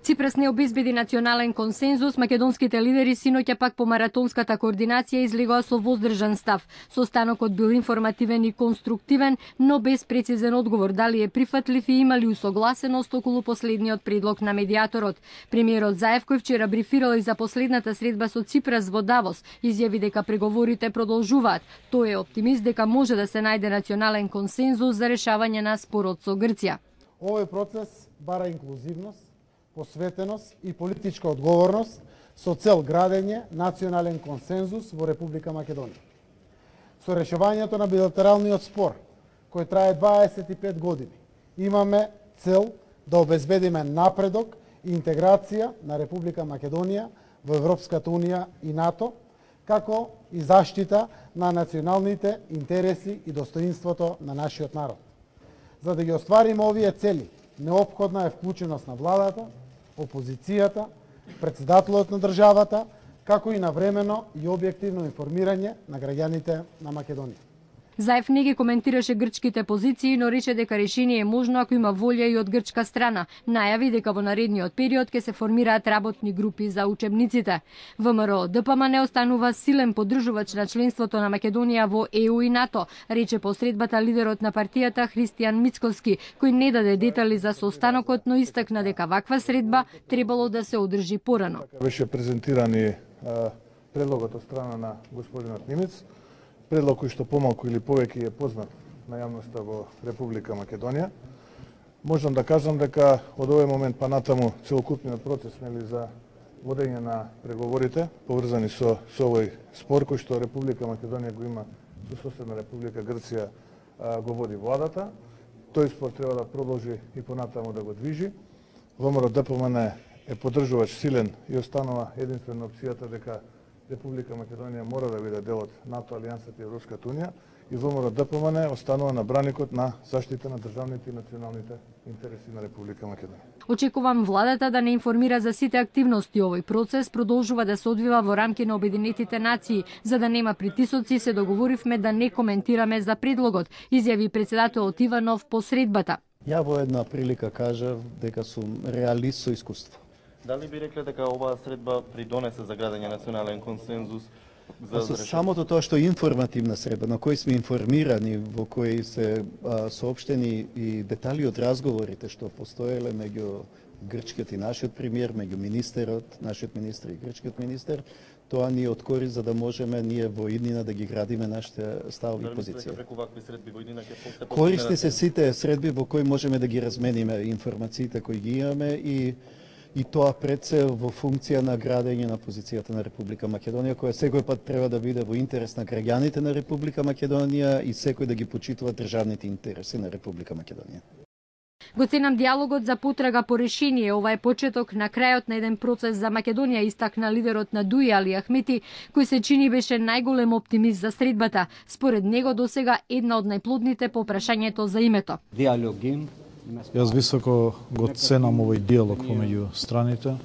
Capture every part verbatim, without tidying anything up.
Ципрас не обезбеди национален консензус, македонските лидери синоќа пак по маратонската координација излегоа со воздржан став. Состанокот бил информативен и конструктивен, но без прецизен одговор дали е прифатлив и има ли усогласеност околу последниот предлог на медиаторот. Премиерот Заев, кој вчера брифирал и за последната средба со Ципрас во Давос, изјави дека преговорите продолжуваат. Тој е оптимист дека може да се најде национален консензус за решавање на спорот со Грција. Овој процес бара инклузивност, посветеност и политичка одговорност со цел градење национален консензус во Република Македонија. Со решавањето на билатералниот спор, кој трае дваесет и пет години, имаме цел да обезбедиме напредок и интеграција на Република Македонија во Европската Унија и НАТО, како и заштита на националните интереси и достоинството на нашиот народ. За да ги оствариме овие цели, неопходна е вклученост на владата, опозицијата, председателот на државата, како и навремено и објективно информирање на граѓаните на Македонија. Заев не ги коментираше грчките позиции, но рече дека решение е можно ако има волја и од грчка страна. Најави дека во наредниот период ќе се формираат работни групи за учебниците. ВМРО Д П М не останува силен поддржувач на членството на Македонија во Е У и НАТО, рече по средбата лидерот на партијата Христијан Мицкоски, кој не даде детали за состанокот, но истакна дека ваква средба требало да се одржи порано. Беше презентиран и предлогот од страна на господинот Нимец, предлог кој што помалку или повеќе е познат на јавноста во Република Македонија. Можам да кажам дека од овој момент па натаму целокупниот процес нели за водење на преговорите поврзани со со овој спор кој што Република Македонија го има со соседна Република Грција го води владата. Тој спор треба да продолжи и понатаму да го движи. ВМРО Д П М е поддржувач силен и останува единствена опцијата дека Република Македонија мора да биде дел од НАТО, Алијансата и Европската Унија и ВМРО Д П М останува на браникот на заштита на државните и националните интереси на Република Македонија. Очекувам владата да не информира за сите активности. Овој процес продолжува да се одвива во рамки на Обединетите нации. За да нема притисоци, се договоривме да не коментираме за предлогот, изјави председателот Иванов по средбата. Ја во една прилика кажав дека сум реалист со искуство. Дали би рекле дека оваа средба придонесе за градење национален консензус? За со самото тоа што е информативна средба, на кој сме информирани, во кој се а, соопштени и детали од разговорите што постоеле меѓу грчкиот и нашиот премиер, меѓу министерот, нашиот министер и грчкиот министер, тоа ни откори за да можеме ние во иднина да ги градиме нашите ставови и позиции. Користи се сите средби во кои можеме да ги размениме информациите кои ги имаме и и тоа пред се во функција на градење на позицијата на Република Македонија, која секој пат треба да биде во интерес на граѓаните на Република Македонија и секој да ги почитува државните интереси на Република Македонија. Го ценам диалогот за потрага по решение. Ова е почеток на крајот на еден процес за Македонија, истакна лидерот на Дуи Али Ахмети, кој се чини беше најголем оптимист за средбата. Според него досега една од најплодните по прашањето за името. Диалогин. Јас високо го ценам овој диалог помеѓу страните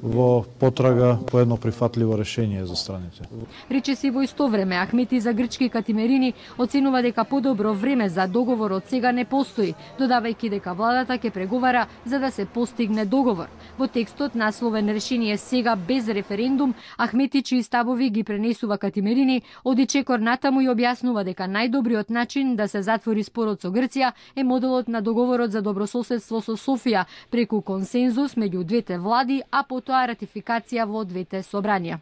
во потрага по едно прифатливо решение за страните. Рече си во исто време, Ахмети за грчки Катимерини оценува дека подобро време за договор од сега не постои, додавајќи дека владата ќе преговара за да се постигне договор. Во текстот насловен решение сега без референдум, Ахмети чии ставови ги пренесува Катимерини, оди чекор натаму и објаснува дека најдобриот начин да се затвори спорот со Грција е моделот на договорот за добрососедство со Софија, преку консензус меѓу двете влади, а потоа ратификација во двете собранија.